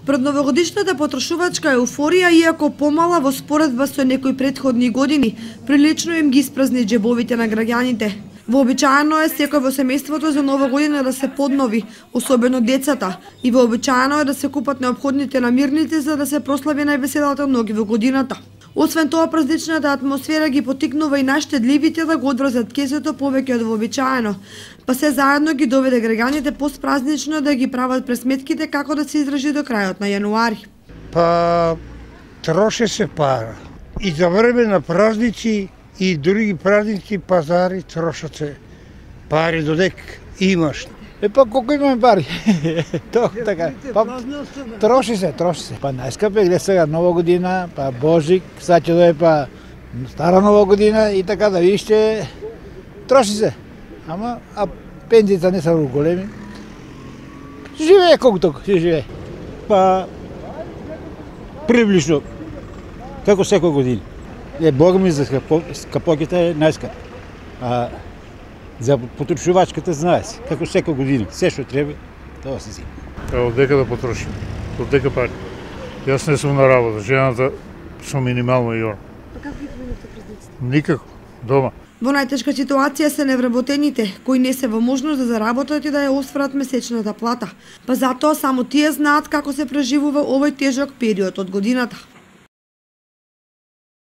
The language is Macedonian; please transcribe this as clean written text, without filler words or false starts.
Пред новогодишната потрошувачка еуфорија, иако помала во споредба со некои претходни години, прилично им ги испразни џебовите на граѓаните. Вообичаено е секој во семејството за нова година да се поднови, особено децата, и вообичаено е да се купат неопходните намирници за да се прослави највеселата ноги во годината. Освен тоа, празничната атмосфера ги поттикнува и најштедливите да го одврзат кесето повеќе од вообичаено, па се заедно ги доведе граѓаните постпразнично да ги прават пресметките како да се издржи до крајот на јануари. Па троше се пара. И за време на празници и други празници пазари трошат се пари додек имаш. Па колку имаме пари? Така. Па троши се. Па најскапе гледа сега Нова година, па Божик, сега ќе дое па Стара Нова година и така да виште троши се. Ама пензиите не се големи. Живее колку толку, живее. Па приближно како секој година. Бога ми за скапоките е најскап. А за потрошувачката знае се, како секој година, се што треба, тоа се зима. Од дека да потрошим, од дека пари. Јас не сум на работа, жената со минимално и он. А како ги поменувате празниците? Никако, дома. Во најтешка ситуација се невработените, кои не се во можност да заработат и да ја осварат месечната плата. Па затоа само тие знаат како се преживува овој тежок период од годината.